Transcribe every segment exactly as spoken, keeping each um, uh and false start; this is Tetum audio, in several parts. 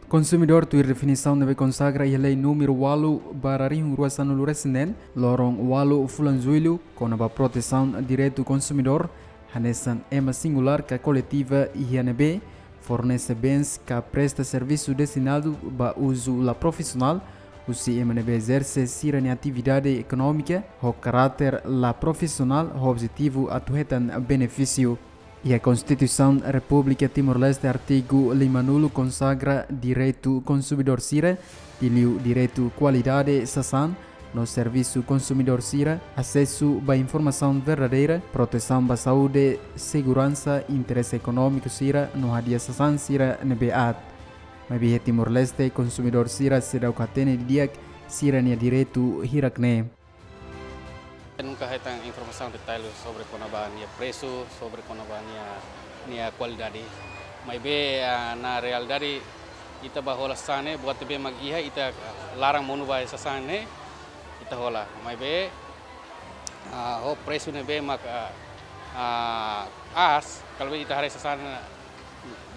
Konsumidór tuir definisaun ne'ebé konsagra iha Lei númeru ualu barra rihun rua sanulu resin neen, loron ualu fulan Jullu, kona-ba protesaun direitu konsumidór, hanesan ema singulár ka koletiva iha ne'ebé fornese bens ka presta servisu destinadu ba uzu la profisionál, husi ema ne'ebé ezerse sira-nia atividade ekonómika ho karáter la profisionál ho objetivu atu hetan benefísiu. Iha Konstituisaun Repúblika Timor-Leste, artigu limanulu konsagra direitu konsumidór sira, liuliu direitu kualidade sasán no servisu konsumidór sira, asesu ba informasaun verdadeira, protesaun ba saúde, seguransa, interese ekonómiku sira no hadi'a sasán sira ne'ebé aat. Maibé iha Timor-Leste, konsumidór sira seidauk hatene didi'ak sira-nia direitu hirak-ne'e. Nunka hetan informasaun detalle sobre kona-ba nia presu, sobre kona-ba nia, nia kualidade. Maibé, ah, na realidade, ita bá hola sasán ne'e, buat ne'ebé mak iha, ita, ah, laran monu ba sasán ne'e, ita hola. Maibé, ah, ho presu ne'ebé mak, ah, ah, aas, kalau ita haree sasán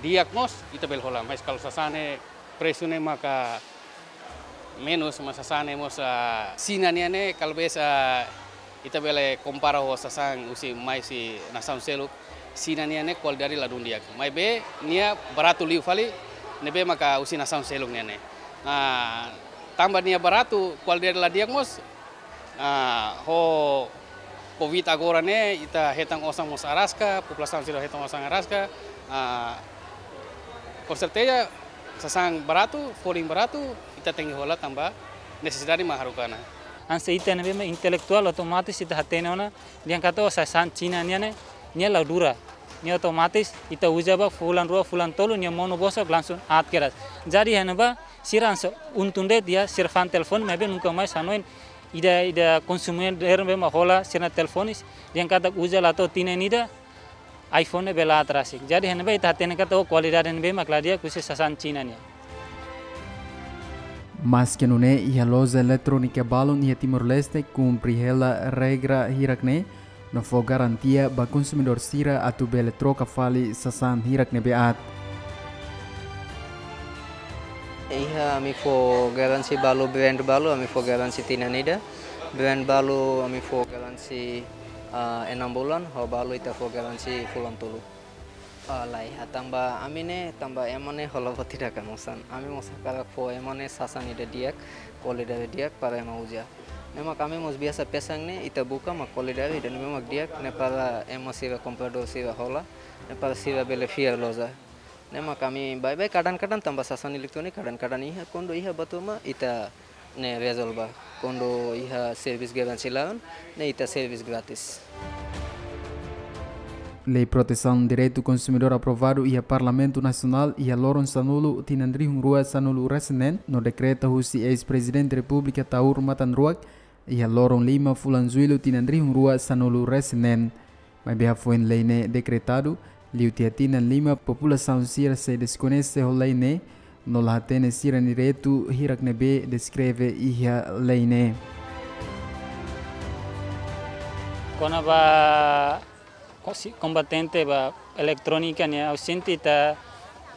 di'ak mós, ita bele hola. Mas kalau sasán ne'e presu ne'e maka menus, mas sasán ne'e mós, ah, Xina nian ne'e, kalau bes, ah, ita bele kompara ho sasán husi mai husi nasaun seluk, Xina nian ne'e kualidade ladún di'ak. Maibé nia baratu liu fali, ne'ebé maka husi nasaun seluk nian ne'e. Ah, tanba nia baratu, kualidade la di'ak mós, ah, ho Covid agora ne'e, ita hetan osan mós araska, populasaun sira hetan osan araska, ah, com certeza, sasán baratu, folin baratu, ita tenke hola tanba nesesidade mak haruka ona. Hanesan ita ne'ebé mak intelektuál, otomatis ita hatene ona, dehan katak sasán Xina nian ne'e, nia la dura, nia otomatis ita uza ba fulan rua, fulan tolu, nia monu bosok, langsung aat kedas. Jadi iha ne'ebá, sira hanesan untung de'it, ya, sira fa'an telefone, maibé nunka mais hanoin ida, ida konsumidór ne'ebé mak hola sira-nia telefone, dehan katak uza la to'o tinan ida, iPhone ne'e bele aat rasik. Jadi iha ne'ebá ita hatene katak, oh, kualidade ne'ebé mak la di'ak husi sasán Xina nian. Maske nune'e, iha loja eletrónika balun iha Timor-Leste kumpre hela regra hirak-ne'e, no fó garantia ba konsumidór sira atu bele troka fali sasán hirak ne'ebé aat. Iha ami fó garansi balu, brand balu, ami fó garansi tinan ida. Brand balu, ami fó garansi, ah, enam bulan, ho balu ita fó garansi fulan tolu. Ah, la iha, tanba ami ne'e, tanba ema ne'e hola buat ida ka mosan. Ami mós hakarak fó ema ne'e sasán ida di'ak, kualidade di'ak para ema uza. Ne'e mak ami mós biasa pesan ne'e, ita buka mak kualidade ida ne'ebé mak di'ak, ne'e para ema sira, kompradór sira hola, ne'e para sira bele fiar loja. Ne'e mak ami baibain, kadang-kadang tanba sasán elektróniku, kadang-kadang iha, kuandu iha buat ruma ita ne'e rezolve. Kuandu iha servis garansi laran, ne'e ita servis gratis. Lei Protesaun Direitu Konsumidór aprovadu iha Parlamentu Nasionál iha loron sanulu tinan rihun rua sanulu resin neen, no dekreta husi eis-Prezidente Repúblika Taur Matan Ruak iha loron lima fulan Jullu tinan rihun rua sanulu resin neen. Maibé hafoin lei ne'e dekretadu, liu tiha tinan lima populasaun sira sei deskoñese ho lei ne'e, no la hatene sira-nia direitu hirak ne'ebé deskreve iha lei ne'e. Kona-ba kosi-, kombatente ba eletrónika nian, ha'u sente ita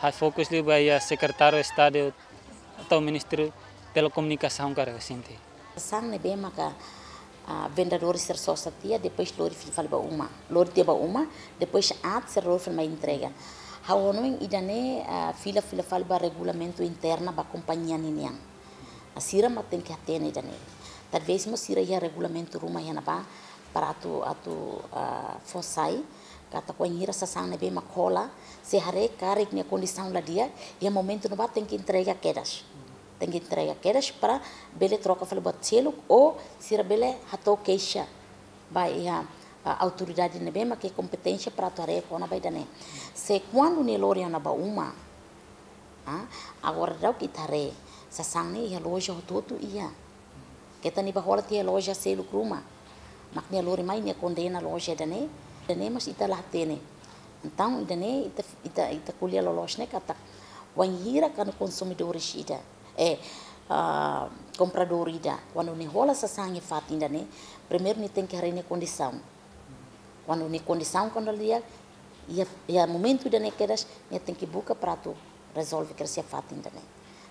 halo fokus liu ba iha Sekretáriu Estadu atu Ministériu Telekomunikasaun karik, ha'u sente. Sasán ne'ebé maka, ah, vendedór sira sosa tiha, depois lori fila fali ba uma. Lori tiha ba uma, depois aat sira lori fali mai entrega. Ha'u hanoin ida-ne'e, ah, fila fila fali ba regulamentu interna ba kompañia ninian. Ah, sira mak tenke hatene ida-ne'e. Talvés mós sira iha regulamentu ruma iha ne'ebá para atu, atu, ah, fó sai, katak wainhira sasán ne'ebé mak hola, se haree karik nia kondisaun la di'ak, iha momentu ne'ebá tenke entrega kedas. Tenke entrega kedas para bele troka fali buat seluk, ou sira bele hato'o keixa ba iha, ah, autoridade ne'ebé mak iha kompeténsia para atu haree kona-ba ida-ne'e. Se kuandu nia lori ona ba uma, ah, agora daudauk ita haree, sasán ne'e iha loja hotu-hotu iha. Keta nia bá hola tiha loja seluk ruma. Mak nia lori mai nia kondena loja ida-ne'e, ida-ne'e mas ita la hatene. Entaun ida-ne'e ita, ita, ita ko'alia loloos ne'e katak wainhira kuandu konsumidores ida, eh, ah, kompradór ida, kuandu nia hola sasán iha fatin ida-ne'e, primeiru nia tenke haree nia kondisaun. Kuandu nia kondisaun kuandu la di'ak, iha, iha momentu ida-ne'e kedas, nia tenke buka para atu rezolve kedas iha fatin ida-ne'e.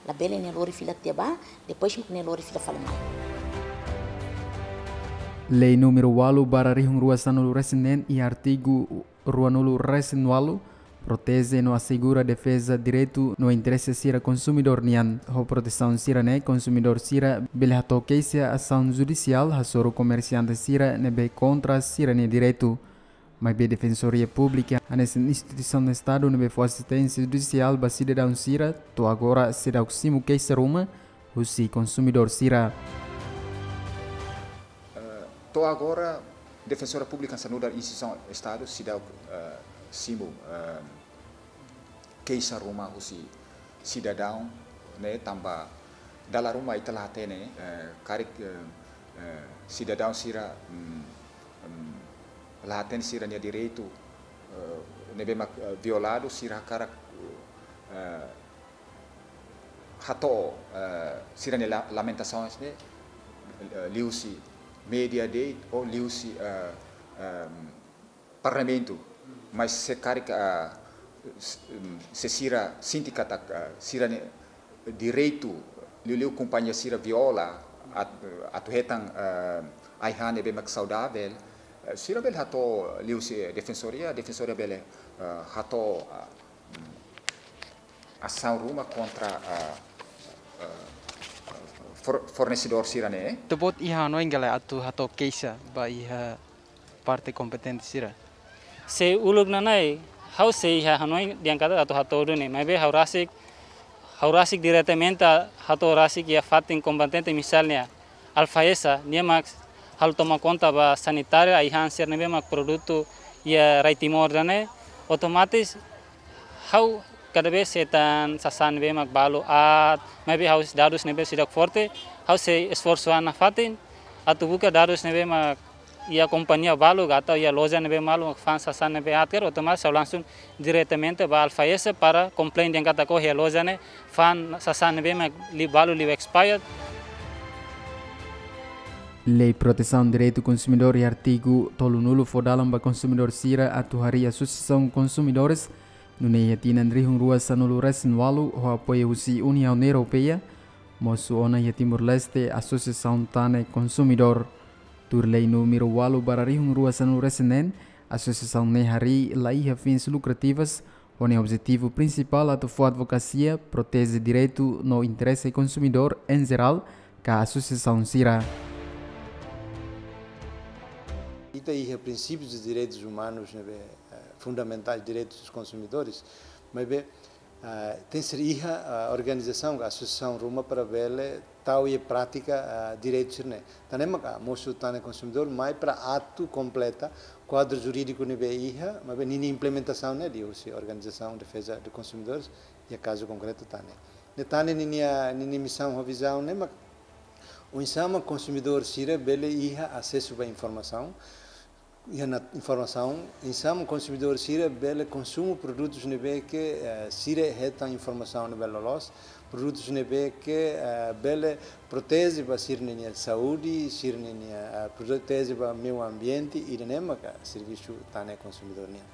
Labele nia lori fila tiha ba, depois mak nia lori fila fali mai. Lei númeru ualu barra rihun rua sanulu resin neen iha artigu ruanulu resin ualu proteje no asegura defeza direitu no interese sira konsumidór nian. Ho protesaun sira-ne'e, konsumidór sira bele hato'o keixa asaun judisiál hasoru komersiante sira ne'ebé kontra sira-nia direitu. Maibé Defensoria Públika hanesan instituisaun Estadu ne'ebé fó asisténsia judisiál ba sidadaun sira, to'o agora seidauk simu keixa ruma husi konsumidór sira. Eh, to'o agora, Defensoria Públika hanesan nu'udar instituisaun Estadu seidauk, eh, simu, eh, keixa ruma husi sidadaun ne'e, tanba dala ruma ita la hatene, eh, karik, eh, eh, sidadaun sira, mm, mm, la hatene sira-nia direitu, eh, ne'ebé mak, eh, violadu, sira hakarak, eh, hato'o, eh, sira-nia la-, lamentasaun ne'e, eh, liuhusi média de'it ou liuhusi, eh, ehm, Parlamentu. Mas se karik, ah, s-, em, se sira sente katak, ah, sira-nia direitu, liuliu kompañia sira viola, at-, atu hetan, ah, ai-han ne'ebé mak saudavel, eh, sira bele hato'o liuhusi Defensoria, Defensoria bele, ah, hato'o, ah, asaun ruma kontra, ah, ah, for-, fornesedór sira-ne'e. Ita-boot iha hanoin ka lae atu hato'o keixa ba iha parte kompetente sira? Se uluk nanain, ha'u sei iha hanoin dehan katak atu hato'o duni, maibé ha'u rasik, ha'u rasik diretamente hato'o rasik iha fatin kompetente, misalnya, ANFAESA, nia mak halo toma konta ba sanitária, ai-han sira ne'ebé mak produtu iha rai Timor ida-ne'e, otomatis ha'u kada vez hetan sasán ne'ebé mak balu aat, maibé ha'u dadus ne'ebé seidauk forte, ha'u sei esforsu an nafatin atu buka dadus ne'ebé mak iha kompañia balu ka atau iha loja ne'ebé balu mak fa'an sasán ne'ebé aat, otomatis ha'u langsung diretamente ba ANFAESA para komplain dehan katak iha loja ne'e fa'an sasán ne'ebé mak li-, balu liu expired. Lei Protesaun Direitu Konsumidór iha artigu tolunulu fó dalan ba konsumidór sira atu harii asosiasaun konsumidores, nune'e iha tinan rihun rua sanulu resin ualu, ho apoiu husi Uniaun Europeia, mosu ona iha Timor-Leste Asosiasaun Tane Konsumidór. Tuir lei númeru ualu barra rihun rua sanulu resin neen, asosiasaun ne'e harii la iha fins lukrativas, ho nia objetivu prinsipál atu fó advokasia, proteje direitu no interese konsumidór em jerál, ka asosiasaun sira. Ita iha princípios de direitos humanos, ne'ebé, eh, fundamentais, direitos dos consumidores, maibé, ah, tenke ser iha, ah, organizasaun, asosiasaun ruma para bele tau iha prátika, ah, direitu sira-ne'e. Tan ne'e mak, ah, mosu Tane Konsumidór mai para atu kompleta kuadru jurídiku ne'ebé iha, maibé ninia implementasaun ne'e liuhusi organizasaun defeza de konsumidores, iha kazu konkretu Tane. Ne'e Tane ninia, ninia misaun ho vizaun ne'e mak oinsá mak konsumidór sira bele iha asesu ba informasaun, iha ona informasaun, oinsá mak konsumidór sira bele konsumu produtus ne'ebé ke, eh, sira hetan informasaun ne'ebé loloos, produtus ne'ebé ke, eh, bele proteje ba sira-nia saúde, sira-nia, eh, proteje ba meiu ambiente, ida-ne'e maka servisu Tane Konsumidór nian.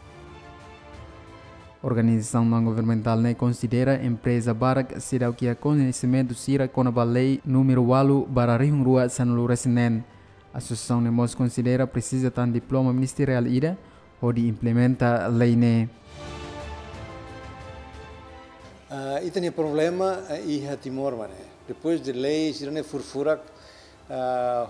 Organizasaun naun-governamentál ne'e konsidera empreza barak seidauk iha koñesimentu sira kona-ba lei númeru ualu barra rihun rua sanulu resin neen. Asosiasaun ne'e mós konsidera presiza tan diploma ministeriál ida hodi implementa lei ne'e. Ah, ita-nia problema, eh, iha Timor mak ne'e. Depois de lei sira-ne'e furak-furak, ah,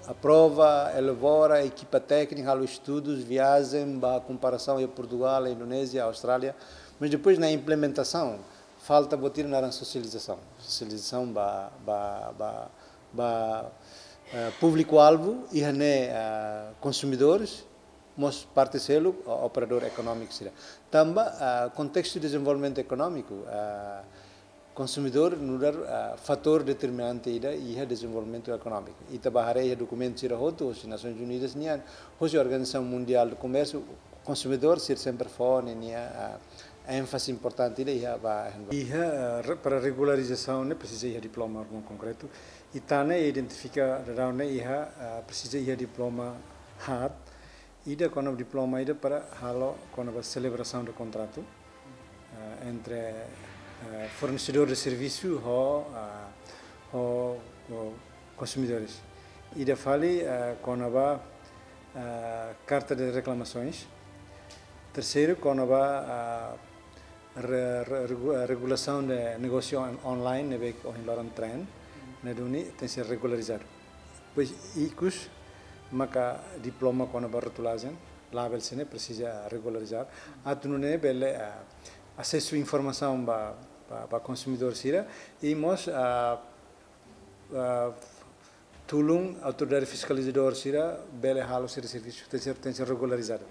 aprova, elabora, ekipa téknika, halo estudus, viajen, ba komparasaun iha Portugál, Indonézia, Austrália. Mas depois na implementasaun, falta buat ida naran sosializasaun. Sosializasaun ba, ba, ba, ba, eh, públiku-alvu, iha ne'e, eh, konsumidores, mós parte seluk, o-, operadór ekonómiku sira. Tanba, ah, kontestu dezenvolvimentu ekonómiku, ah, konsumidór nu'udar, ah, fatór determinante ida iha dezenvolvimentu ekonómiku. Ita bá haree iha dokumentu sira hotu, hosi Nasoins Unidas nian, hosi Organizasaun Mundiál de Komérsiu, konsumidór sira sempre fó ninia, ah, énfaze importante ida iha ba, iha, ah, re-, para regularizasaun ne'e presiza iha diploma órgaun konkretu. I Tane identifika daudaun ne'e iha, ah, presiza iha diploma haat, ida kona-ba diploma ida para halo kona-ba selebrasaun de kontratu, eh, entre, eh, fornesedór de servisu ho, ah, ho, ho konsumidores. Ida fali, eh, kona-ba, eh, karta de reklamasoens. Terseiru, kona-ba, ah, re-, re-, regu-, eh, regulasaun de negósiu on-, online ne'ebé ohin loron trend, ne'e duni tenke ser regularizadu. Depois, ikus, maka diploma kona-ba rotulajen, label sira-ne'e presiza regularizadu. Atu nune'e bele, ah, asesu informasaun ba, ba, ba konsumidór sira, i mós, ah, ah, tulun autoridade fiskalizadór sira bele halo sira servisu, tenke ser, tenke ser regularizadu.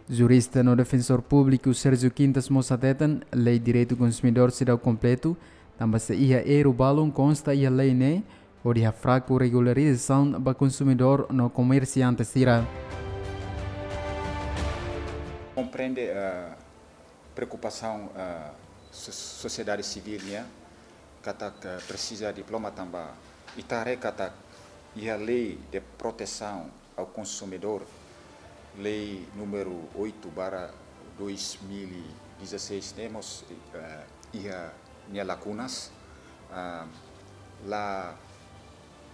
Jurista no defensór públiku Sérgio Quintas mós hateten, lei direitu konsumidór seidauk kompletu, tanba sei iha erru balun konsta iha lei ne'e, hodi hafraku regularizasaun ba konsumidór no komersiante sira. Komprende, eh, preokupasaun, eh, so-, sosiedade sivíl nian, katak, eh, presiza diploma tanba ita haree katak iha lei de protesaun ao consumidor, lei número oito barra dois mil e dezasseis, ne'e mós, eh, iha nia lakunas, ah, la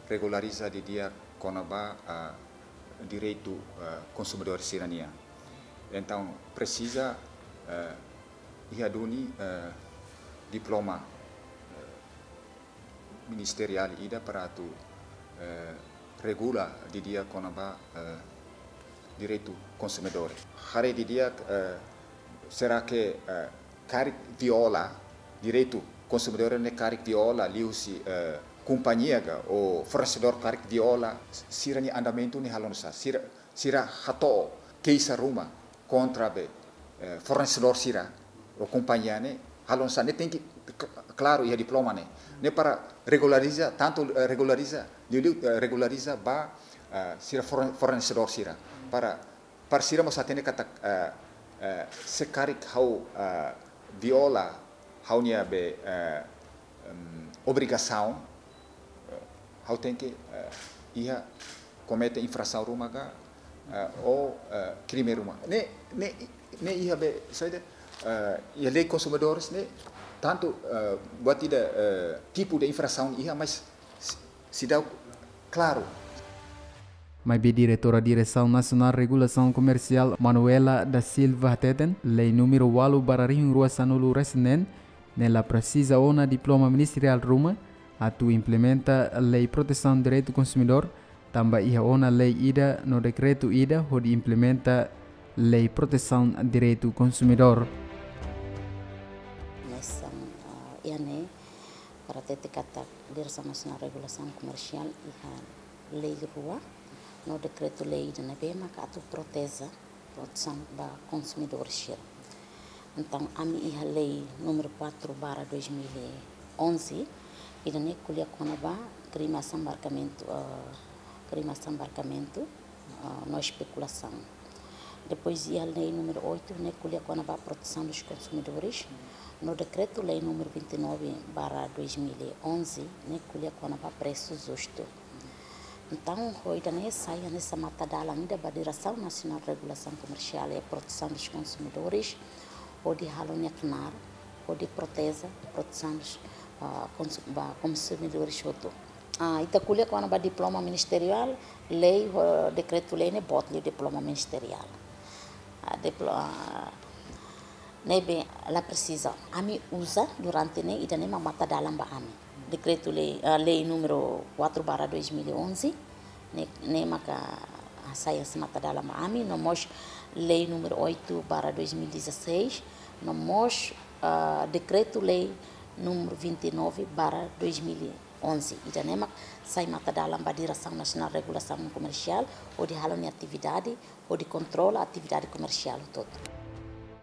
regulariza didi'ak kona-ba, ah, direitu, ah, konsumidór sira-nian. Entaun, presiza, eh, iha duni, eh, diploma, eh, ministeriál ida para atu, eh, regula didi'ak kona-ba, eh, direitu konsumidór. Haree didi'ak, eh, será que, eh, karik viola direitu konsumidór ne'e, karik viola liuhusi, eh, kompañia ka, ou fornesedór karik viola, sira-nia andamentu ne'e halo nu'usá, sira, sira hato'o keixa ruma kontra be, eh, fornesedór sira ou kompañia ne'e, halo nu'usá, ne'e tenke k-, klaru iha diploma ne'e. Ne'e para regulariza, tantu, eh, regulariza, liuliu, eh, regulariza ba, eh, sira forne-, fornesedór sira. Para, para sira mós hatene katak, eh, eh, se karik ha'u, eh, viola ha'u-nia be, eh, em, obrigasaun, eh, ha'u tenke, eh, iha komete infrasaun ruma ka, eh, ou, eh, krime ruma. Ne'e, ne'e, ne'e iha be, saida, eh, iha lei konsumidores ne'e, tantu, eh, buat ida, eh, tipu de infrasaun iha, mas si-, seidauk klaru. Maibé Diretora Diresaun Nasionál Regulasaun Komersiál, Manuela da Silva, hateten, lei número ualu barra rihun rua sanulu-resin-neen, ne'e la presiza ona diploma ministeriál ruma atu implementa lei protesaun direitu konsumidór, tanba iha ona lei ida no dekretu ida hodi implementa lei protesaun direitu konsumidór. Mesan, ah, iha ne'e, para hatete katak Diresaun Nasionál Regulasaun Komersiál iha lei rua no dekretu-lei ida ne'ebé maka atu proteje, protesaun ba konsumidór sira. Entaun, ami iha lei número quatro barra dois mil e onze, ida-ne'e ko'alia kona-ba krime assambarcamento, eh, krime assambarcamento, eh, no especulação. Depois iha lei número oito, ne'e ko'alia kona-ba protesaun dos consumidores. No dekretu-lei número vinte e nove barra dois mil e onze, ne'e ko'alia kona-ba presu justu. Entaun, ho ida-ne'e sai hanesan matadalan ida ba Diresaun Nasionál Regulasaun Komersiál e Protesaun dos Konsumidores, hodi halo nia knaar, hodi proteje, protesaun dos, ah, konsu-, ba konsumidores hotu. Ah, ita ko'alia kona-ba diploma ministeriál, lei ho dekretu-lei ne'e boot liu diploma ministeriál. Ah, diplo-, ah, ne'ebé la presiza. Ami uza durante ne'e, ida-ne'e mak matadalan ba ami. Dekretu-lei, ah, lei número quatro barra dois mil e onze, ne'e, ne'e maka, ah, sai hanesan matadalan ba ami, no mós lei número oito barra dois mil e dezasseis, no mós, ah, dekretu-lei número vinte e nove barra dois mil e onze. Ida-ne'e mak sai matadalan ba Diresaun Nasionál Regulasaun Komersiál, hodi halo nia atividade, hodi kontrola atividade komersiál hotu.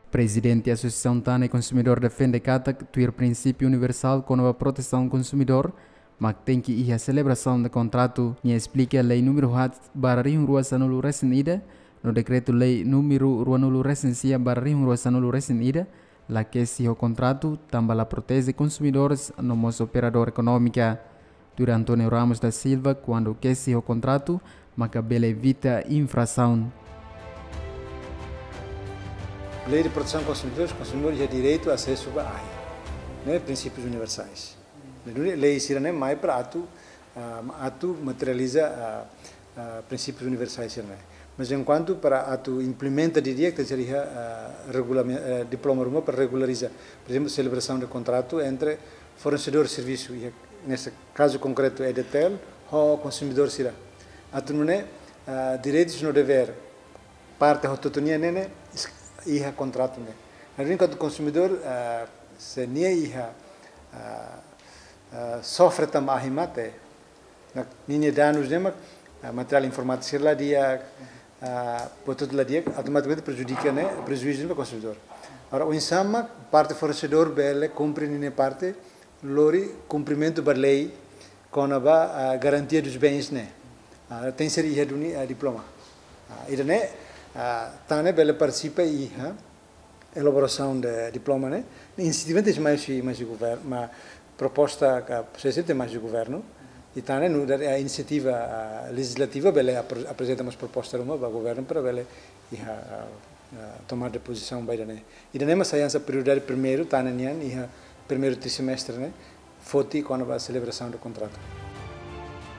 Prezidente Asosiasaun Tan e Konsumidór defende katak tuir prinsípiu universál kona-ba protesaun konsumidór, mak tenke iha selebrasaun de kontratu. Nia esplika lei número haat barra rihun rua sanulu-resin-ida, no dekretu-lei número ruanulu-resin-sia barra rihun rua sanulu-resin-ida, la kesi ho kontratu, tanba la proteje konsumidores no mós operadór ekonómika. Tuir António Ramos da Silva, kuandu kesi ho kontratu, maka bele evita infrasaun. Lei de protesaun konsumidores, konsumidór iha direitu asesu ba ahi, ne'e prinsípius universais. Ne'e duni lei sira-ne'e mai para atu, ah, atu materializa, ah, ah, prinsípius universais sira-ne'e. Mas enkuantu para atu implementa didi'ak, tenke ser iha, ah, regulame-, eh, diploma ruma para regulariza. Por ezemplu, selebrasaun de kontratu entre fornesedór servisu, iha, neste kazu konkretu, EDTL, ho konsumidór sira. Atu nune'e, ah, direitus no devér parte hotu-hotu nian ne'e, ne'e, is-, iha kontratu ne'e. Ne'e duni kuandu konsumidór, ah, se nia iha, ah, ah, sofre tanba ahi mate, ne'e, ninia danus ne'e mak, ah, materiál informátiku sira la di'ak, ah, buat hotu la di'ak, automatikamente prejudika ne'e, prejuízu ba konsumidór. Agora, oinsá mak parte fornesedór bele kumpre ninia parte, lori kumprimentu ba lei kona-ba, ah, garantia dos bens ne'e. Ah, tenke ser iha duni, ah, diploma. Ah, ida-ne'e, ah, tan ne'e bele partisipa iha elaborasaun de diploma ne'e. Inisiativa tenke ser mai husi, mai husi govern-, ma proposta ka sugestão tenke mai husi governu. I tan ne'e nu'udar, ah, inisiativa, ah, lejizlativa bele apre-, aprezenta mós proposta ruma ba governu para bele iha, ah, ah, tomada de pozisaun ba ida-ne'e. Ida-ne'e mak sai hanesan prioridade primeiru, tan ne'e nian, iha primeiru trimestre ne'e, foti kona-ba selebrasaun de kontratu.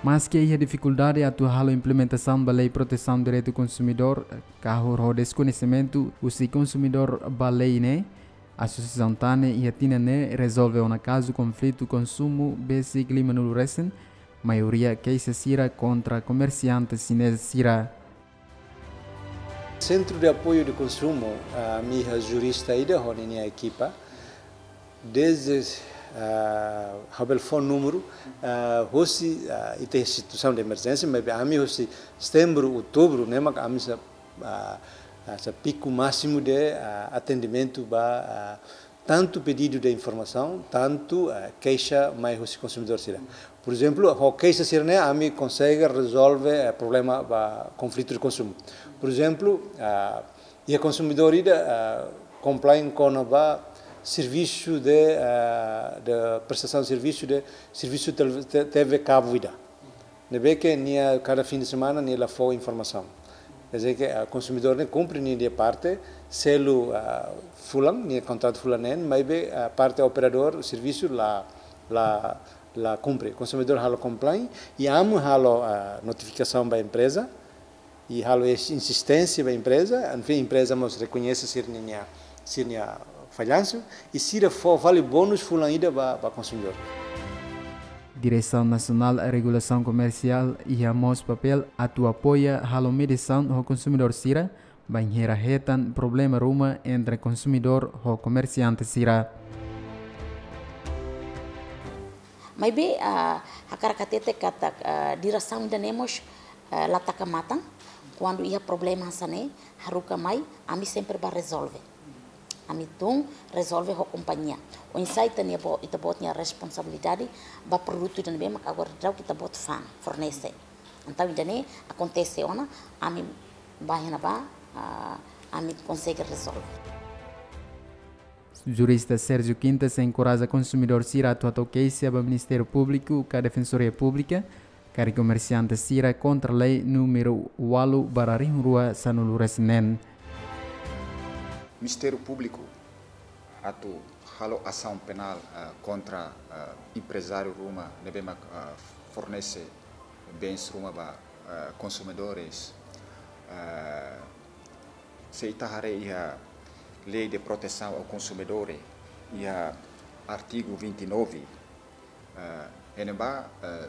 Maske iha difikuldade atu halo implementasaun ba lei protesaun direitu konsumidór, kahur ho deskoñesimentu husi konsumidór ba lei ne'e, asosiasaun tan ne'e iha tinan ne'e rezolve ona kazu konflitu konsumu besik lima-nulu resin, maioria keixa sira kontra komersiante xinés sira. Centro de Apoio de Consumo, ah, ami iha jurista ida ho ninia ekipa. Desde, ah, ha'u bele fó númeru, ah, hosi, ah, ita iha situasaun de emerjénsia, maibé ami hosi setembru, outubru, ne'e mak ami sa, ah, ah, sa piku másimu de, ah, atendimentu ba, ah, tantu pedidu de informasaun, tantu, eh, keixa mai husi konsumidór sira. Por ezemplu, ho keixa sira-ne'e ami konsege rezolve, eh, problema ba konflitu de konsumu. Por ezemplu, ah, iha konsumidór ida, ah, complain kona-ba servisu de, ah, de prestasaun servisu de servisu tel-, te-, T V kabu ida. Ne'ebé ke nia kada fin de semana nia la fó informasaun. Quer dizer ke, ah, konsumidór ne'e kumpre ninia parte, selu, ah, fulan, nia kontratu fulan neen, maibé, ah, parte operadór servisu la, la, la kumpre. Konsumidór halo complain, i ami halo, ah, notifikasaun ba empreza, i halo es-, insisténsia ba empreza, enfin, empreza mós rekoñese sira-nia, sira-nia fallansu, i sira fó vale bónus fulan ida ba, ba konsumidór. Diresaun Nasionál Regulasaun Komersiál iha mós papél atu apoia halo mediasaun ho konsumidór sira, bainhira hetan problema ruma entre konsumidór ho komersiante sira. Maibé, ah, hakarak hatete katak, ah, diresaun ida-ne'e mós, ah, la taka matan, kuandu iha problema hanesan ne'e, haruka mai, ami sempre bá rezolve. Ami tun rezolve ho kompañia. Oinsá ita-nia bo-, ita-boot nia responsabilidade ba produtu ida ne'ebé mak agora daudaun ita-boot fa'an, fornese. Entaun ida-ne'e akontese ona, ami bá iha ne'ebá, ah, ami konsege rezolve. Jurista Sérgio Quintas enkoraja konsumidór sira atu hato'o keixa ba Ministériu Públiku ka Defensoria Públika, karik komersiante sira kontra lei númeru ualu barra rihun rua sanulu resin neen. Ministériu Públiku atu halo asaun penál, eh, kontra, eh, emprezáriu ruma ne'ebé mak, eh, fornese bens ruma ba, eh, konsumidores. Eh, se ita haree iha Lei de Proteção ao Consumidor, iha artigu vinte e nove, eh, iha ne'ebá, eh,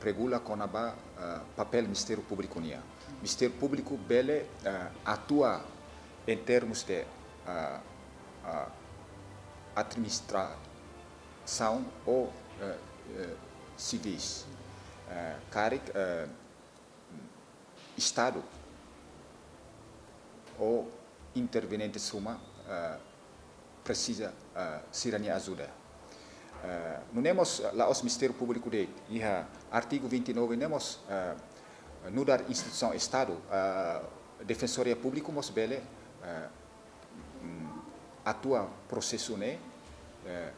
regula kona-ba, eh, papél Ministériu Públiku nian. Ministériu Públiku bele, eh, atua em termos de, eh, eh, administrasaun ou, eh, eh, sivis. Eh, karik, eh, Estadu ou interveniente ruma, eh, presiza, eh, sira-nia ajuda. Eh, nune'e mós, eh, la'ós Ministériu Públiku de'it, iha artigu vinte e nove ne'e mós, eh, nu'udar instituisaun Estadu, eh, Defensoria Públiku mós bele, eh, mm, atua prosesu ne'e, eh,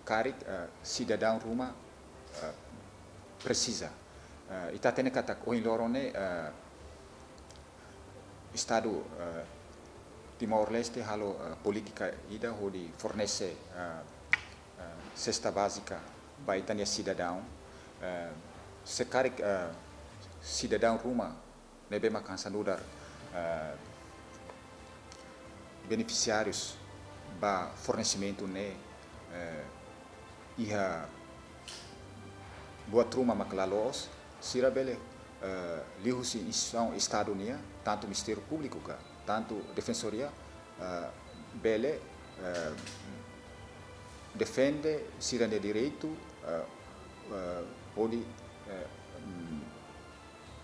karik, eh, sidadaun ruma, eh, presiza. Eh, ita hatene katak ohin loron ne'e, eh, Estadu, eh, Timor-Leste halo, eh, polítika ida hodi fornese, eh, eh, sesta bázika ba ita-nia sidadaun, eh, se karik, eh, sidadaun ruma ne'ebé mak hanesan nu'udar, eh, benefisiárius ba fornesimentu ne'e, eh, iha buat ruma mak la loos, sira bele, eh, liuhusi instituisaun Estadu nian, tantu Ministériu Públiku ka, tantu Defensoria, eh, bele, eh, defende sira-nia direitu, eh, eh, hodi, eh, mm,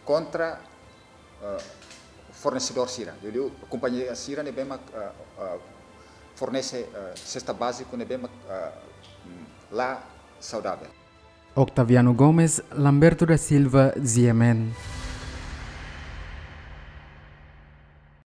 kontra, eh, fornesedór sira. Jadi, kompañia sira ne'ebé mak, eh, eh, fornese, eh, sesta báziku ne'ebé mak, eh, mm, la saudavel. Octaviano Gomes, Lamberto da Silva, G M N.